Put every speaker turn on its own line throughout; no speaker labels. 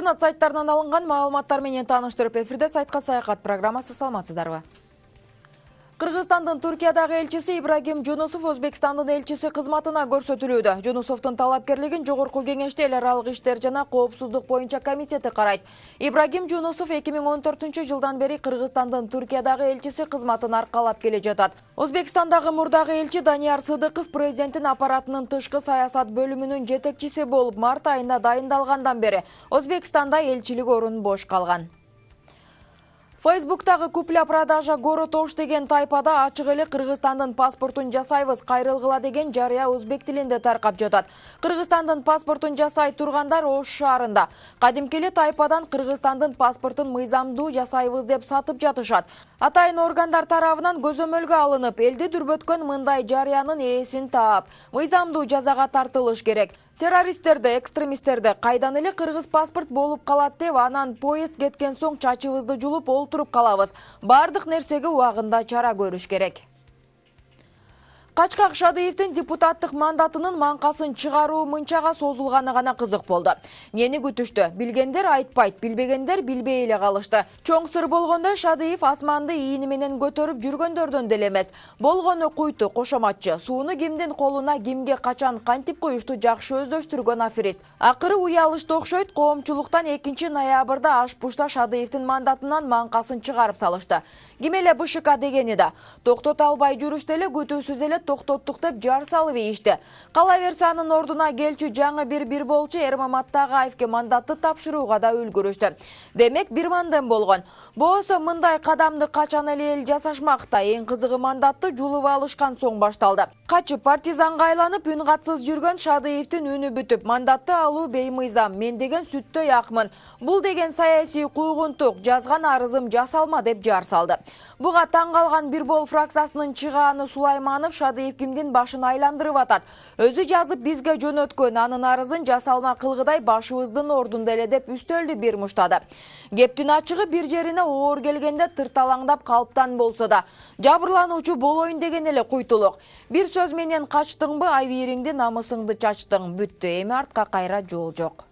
Интернет сайттарынан алынган маалыматтар менен тааныштырып, эфирде сайтка саякат программасы. Саламатсыздарбы? Кыргызстандын Туркиядагы элчиси Ибрагим Жунусов Өзбекстандын элчиси кызматына көрсөтүлүүдө. Жунусовдун талапкерлигин Жогорку кеңеште эл аралык иштер жана коопсуздук боюнча комитети карайт. Ибрагим Жунусов 2014-жылдан бери Кыргызстандын Туркиядагы элчиси кызматын аркалап келе жатат. Өзбекстандагы мурдагы элчи Данияр Сыдыков президенттин аппаратынын тышкы саясат бөлүмүнүн жетекчиси болуп, март айында дайындалгандан бери Өзбекстанда элчилик орун бош калган. Facebook'тагы купля-продажа город Ош деген тайпада ачык эле Кыргызстандын паспортун жасайбыз, кайрылгыла деген жарыя өзбек тилинде таркап жатат. Кыргызстандын паспортун жасай тургандар Ош шаарында. Кадимки эле тайпадан Кыргызстандын паспортун мыйзамдуу жасайбыз деп сатып жатышат. Атайын органдар тарабынан көзөмөлгө алынып, элди дүрбөткөн мындай жарыянын ээсин таап, мыйзамдуу жазага тартылыш керек. Террористтерди, экстремисттерди кайдан эле кыргыз паспорт болуп калат деп, анан поезд кеткен соң чачыбызды жулуп олтуруп калабыз. Бардык нерсеге убагында чара көрүш керек. Качкак Шадыевдин депутаттык мандатынын манкасын чыгаруу мынчага созулганы гана кызык болду. Нени күтүштү? Билгендер айтпайт, билбегендер билбей эле калышты. Чоң сыр болгондо Шадыев асманды ийини менен көтөрүп жүргөндөрдөн деле эмес. Болгону куйту, кошоматчы, сууну кимдин колуна, кимге качан кантип коюшту жакшы өздөштүргөн аферист. Акыры уялышты окшойт, коомчулуктан 2-ноябрда аш-пушта Шадыевдин мандатынан манкасын чыгарып салышты. Ким эле БШК дегени да. Токтото албай жүрүштө эле күтүүсүз эле токтоттук деп жар салып ийишти. Калаверсе анын ордуна келчү жаңы бир болчу Эрмам Аттагаевке мандатты тапшырууга да үлгүрүштү. Демек бир мандем болгон. Болсо мындай кадамды качан эле эл жасашмакта, эң кызыгы мандатты жулуп алышкан соң башталды. Качып партизанга айланып үн катсыз жүргөн Шадыевдин үнү бүтүп, мандатты алуу беймыйзам, мен деген сүттөй акмын. Бул деген саясий куугунтук, жазган арызым жасалма деп жар салды. Буга таң калган Бирбол фракциясынын чыгааны Сулайманов Шадыев кимдин башын айландырып атат. Өзү жазып бизге жөнөткөн, анын арызын жасалма кылгыдай башыбыздын ордунда эле деп үстөлдү бир муштады. Кептин ачыгы бир жерине оор келгенде тырталаңдап калыптан болсо да, жабырлануучу болоюн деген эле куйтулук. Бир сөз менен качтыңбы, айбириңди, намысыңды чачтың, бүттү, эми артка кайра жол жок.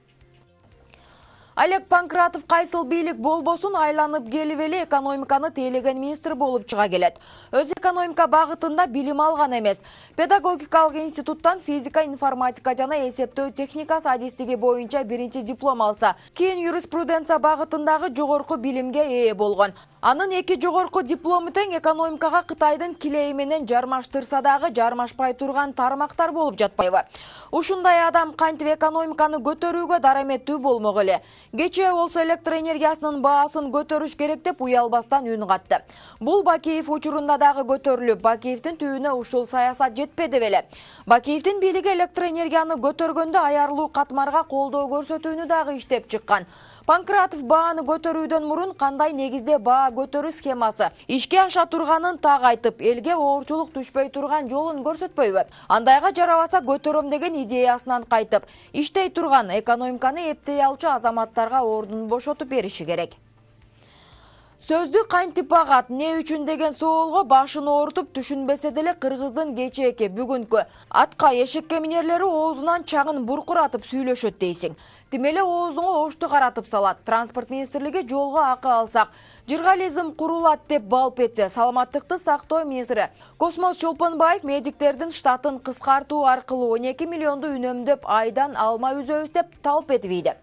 Олег Панкратов кайсыл бийлик болбосун айланып келип эле экономиканы тейлеген министр болуп чыга келет. Өз экономика багытында билим алган эмес. Педагогикалык институттан физика, информатика жана эсептөө техникасы адистиги боюнча биринчи диплом алса, кийин юриспруденция багытындагы жогорку билимге ээ болгон. Анын 2 жогорку диплому тең экономикага Кытайдын килеи менен жармаштырса дагы жармашпай турган тармактар болуп жатпайбы? Ушундай адам кантип экономиканы көтөрүүгө дараметтүү болмок эле? Кечээ болсо электр энергиясынын баасын көтөрүш керек деп уялбастан үн катты. Бул Бакиев учурунда дагы көтөрүлүп, Бакиевдин түйүнө ушул саясат жетпеди беле. Бакиевдин бийлиги электр энергияны көтөргөндө аярлуу катмарга колдоо көрсөтүүнү дагы иштеп чыккан. Панкратов бааны көтөрүүдөн мурун кандай негизде баа көтөрүү схемасы ишке аша турганын так айтып, элге оорчулук түшпөй турган жолун көрсөтпөйбү? Андайга жарабаса көтөрөм деген идеясынан кайтып, иштей турган экономиканы эптей алчу азаматтарга ордун бошотуп бериши керек. Сөздү кантип багат, не үчүн деген соолго башын оорутуп түшүнбесе деле кыргыздын кечээки бүгүнкү атка эшекке минерлери оозунан чаңын буркуратып сүйлөшөт дейсиң. Тим эле оозуңа ошту каратып салат. Транспорт министрлиги жолго акы алсак, журнализм курулат деп балп этсе, саламаттыкты сактоо министри Космос Чолпонбаев медиктердин штатын кыскартуу аркылуу 12 миллионду үнөмдөп айдан алма үзөбүз деп талп этип ийди.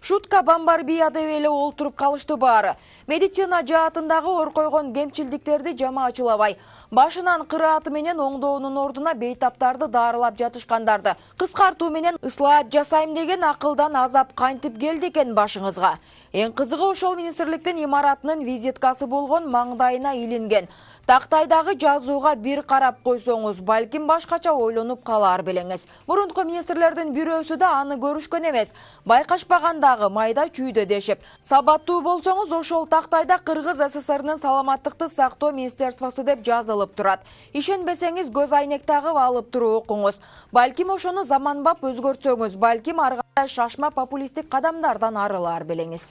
Шутка бамбарбия деп эле олтуруп калышты баары. Медицина жаатындагы ор койгон кемчилдиктерди жамаачылабай, башынан кырааты менен оңдоонун ордуна бейтаптарды дарылап жатышкандарды кыскартуу менен ыслаат жасайм деген акылдан азап кантип келди экен башыңызга? Эң кызыгы ошол министрликтин имаратынын визиткасы болгон маңдайына илинген тактайдагы жазууга бир карап койсоңуз, балким башкача ойлонуп калар белеңиз. Мурунку министрлердин бирөөсү да аны көрүшкөн эмес. Байкашпагандагы майда чүйдө дешип. Сабаттуу болсоңуз, ошол тактайда Кыргыз СССРнын саламаттыкты сактоо министерствосу деп жазылып турат. Ишенбесеңиз, көз айнек тагып алып туруп окуңуз. Балким ошону заманбап өзгөртсөңүз, балким ар кандай шашма популисттик кадамдардан арылар белеңиз.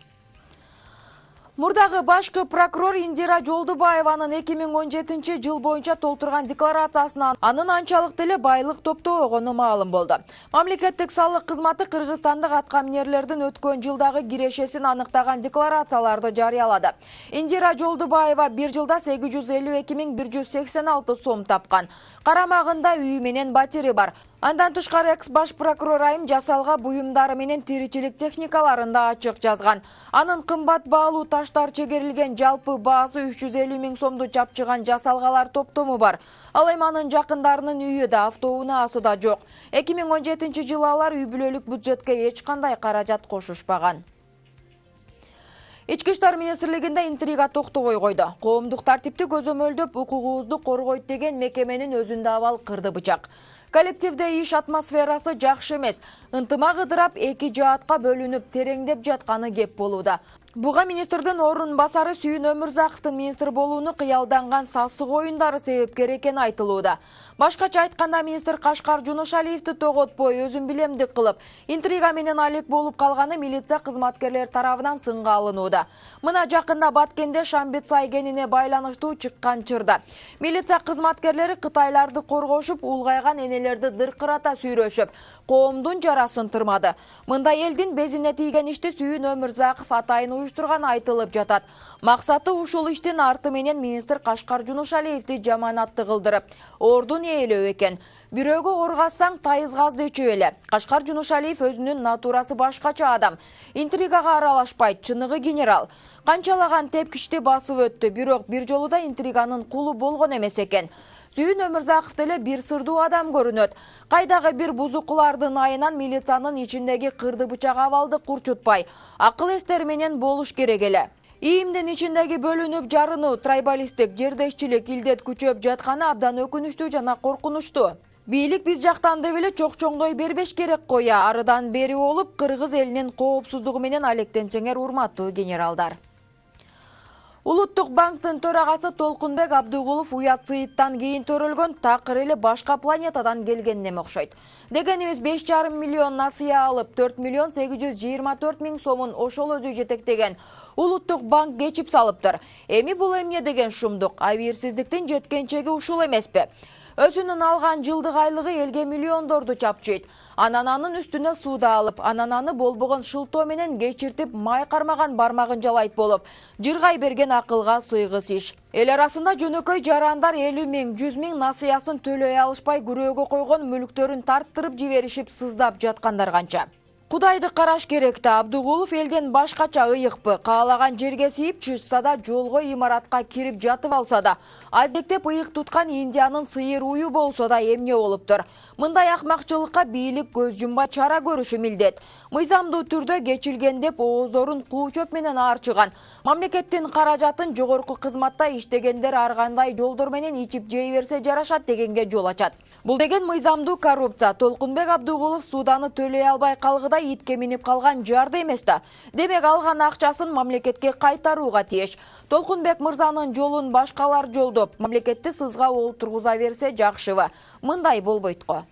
Мурдагы башкы прокурор Индира Жолдубаеванын 2017 жыл боюнча толтурган декларациясынан анын анчалык деле байлык топтобогону маалым болду. Мамлекеттик салык кызматы кыргызстандык аткаминерлердин өткөн жылдагы кирешесин аныктаган декларацияларды жарыялады. Индира Жолдубаева бир жылда 852.186 сом тапкан. Карамагында үйү менен батири бар. Андан тышкары экс-баш прокурор айым жасалга буюмдары менен тиричилик техникаларын да ачык жазган. Анын кымбат баалуу таштар чегерилген жалпы баасы 350.000 сомду чапчыган жасалгалар топтому бар. Ал эми анын жакындарынын үйү да, автоунаасы да жок. 2017 жылы алар үй бүлөлүк бюджетке эч кандай каражат кошушпаган. Ички иштер министрлигинде интрига токтобой койду. Коомдук тартипти көзөмөлдөп, укугубузду коргойт деген мекеменин өзүндө абал кырды бычак. Коллективде иш атмосферасы жакшы эмес. Ынтымак ыдырап, эки жаатка бөлүнүп, тереңдеп жатканы кеп болууда. Буга министрдин орун басары Сүйүн Өмүрзаковдун министр болууну кыялданган сасык оюндары себепкер экени айтылууда. Башкача айтканда министр Кашкар Жунушалиевди тоготпой, өзүн билемдик кылып, интрига менен алек болуп калганы милиция кызматкерлери тарабынан сынга алынууда. Мына жакында Баткенде Шамбет Сайгенине байланыштуу чыккан чырда. Милиция кызматкерлери кытайларды коргошуп, улгайган энелерди дыркырата сүйрөшүп, коомдун жарасын тырмады. Мында элдин безине тийген ишти Сүйүн Өмүрзаков атайын уюштурган айтылып жатат. Максаты ушул иштин арты менен министр Кашкар Жунушалиевди жаманатты кылдырып, ордун ээлөө экен. Бирөөгө оргассаң тайызгазды ичип эле. Кашкар Жунушалиев өзүнүн натурасы башкача адам. Интригага аралашпайт, чыныгы генерал. Канчалаган тепкичти басып өттү, бирок бир жолу да интриганын кулу болгон эмес экен. Сүйүн Өмүрзаков деле бир сырдуу адам көрүнөт. Кайдагы бир бузукулардын айынан милициянын ичиндеги кырды бычак абалды курчутпай, акыл эстери менен болуш керек эле. ИИМдин ичиндеги бөлүнүп жарынуу, трайбалисттик, жердешчилик илдет күчөп жатканы абдан өкүнүчтүү жана коркунучтуу. Бийлик биз жактан деп эле чок-чоңдой бербеш керек коя, арыдан бери болуп, кыргыз элинин коопсуздугу менен алектенсеңер, урматтуу генералдар. Улуттук банктын төрагасы Толкунбек Абдыгулов уят сыйыттан кийин төрөлгөн такыр эле башка планетадан келгенине окшойт. Дегенибиз 5,5 миллион насыя алып, 4,824,000 сомун ошол өзү жетектеген Улуттук банк кечип салыптыр. Эми бул эмне деген шумдук? Абийирсиздиктин жеткенчеги ушул эмеспи? Өзүнүн алган жылдык айлыгы элге миллиондорду чапчыйт. Анан анын үстүнө сууда алып, анан аны болбогон шылтоо менен кечиртип, май кармаган бармагын жалайт болуп, жыргай берген акылга сыйгыс иш. Эл арасында жөнөкөй жарандар 50.000-100.000 насыясын төлөй алышпай күрөөгө койгон мүлктөрүн тарттырып жиберишип сыздап жаткандар канча. Кудайды караш керек да, Абдыгулов элден башкача ыйыкпы, каалаган жерге сийип чычса да, жолго имаратка кирип жатып алса да, аздектеп ыйык туткан Индиянын сыйыр уyu болсо да эмне болуптур. Мындай акмакчылыкка бийлик көз жумбай чара көрүшү милдет. Мыйзамдуу түрдө кечилген деп ооздорун куу чөп менен аарчыган. Мамлекеттин каражатын жогорку кызматта иштегендер ар кандай жолдор менен ичип жей берсе жарашат дегенге жол ачат. Бул деген мыйзамдуу коррупция. Толкунбек Абдыгулов сууданы төлөй албай калгыда итке минип калган жарды эмес да. Демек алган акчасын мамлекетке кайтарууга тийиш. Толкунбек мырзанын жолун башкалар жолдоп, мамлекетти сызга олтургуза берсе жакшыбы? Мындай болбойт го.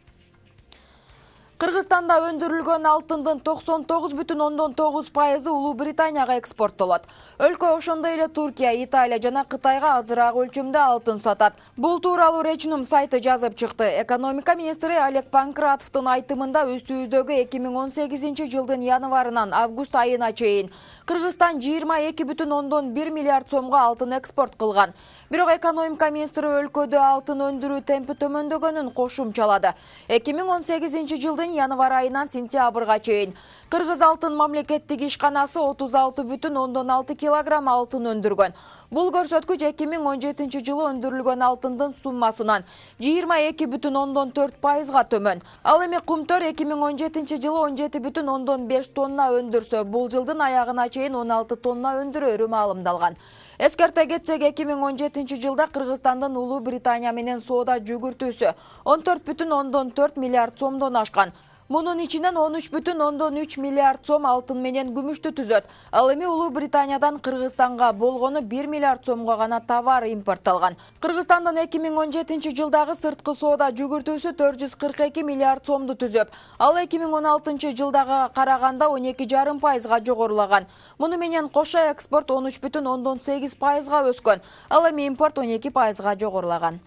Кыргызстанда өндүрүлгөн алтындын 99,9% Улуу Британияга экспорттолот. Өлкө ошондой эле Туркия, Италия жана Кытайга азыраак өлчөмдө алтын сатат. Бул тууралуу Речнум сайты жазып чыкты. Экономика министри Олег Панкратовдун айтымында үстүбүздөгү 2018 жылдын январынан август айына чейин Кыргызстан 22,1 миллиард сомго алтын экспорт кылган. Бирок экономика министри өлкөдө алтын өндүрүү темпи төмөндөгөнүн кошумчалады. 2018 жылдын январ айынан сентябрга чейин Кыргыз алтын мамлекеттик ишканасы 36,6 килограмм алтын өндүргөн. Бул көрсөткүч 2017 жылы өндүрүлгөн алтындын суммасынан 22,4%га төмөн. Ал эми Кумтөр 2017 жылы 17,5 тонна өндүрсө, бул жылдын аягына чейин 16 тонна өндүрөрү маалымдалган. Эскерте кетсек, 2017 жылда Кыргызстандын Улуу Британия менен соода жүгүртүүсү 14,4 миллиард сомдон ашкан. Мунун ичинен 13,3 миллиард сом алтын менен күмүштү түзөт. Ал эми Улуу Британиядан Кыргызстанга болгону 1 миллиард сомго гана товар импортталган. Кыргызстандын 2017 жылдагы сырткы соода жүгүртүүсү 442 миллиард сомду түзөп, ал 2016 жылдагы караганда 12,5% жогорулаган. Муну менен кошо экспорт 13,8% өскөн. Ал эми импорт 12% жогорулаган.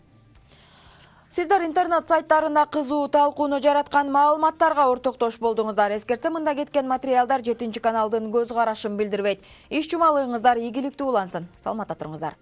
Сиздер интернет сайттарында кызуу талкууну жараткан маалыматтарга ортоктош болдуңуздар. Эскертсем, мында кеткен материалдар 7 каналдын көз карашын билдирбейт. Иш жумалыгыңыздар ийгиликтүү улансын. Саламатта туруңуздар.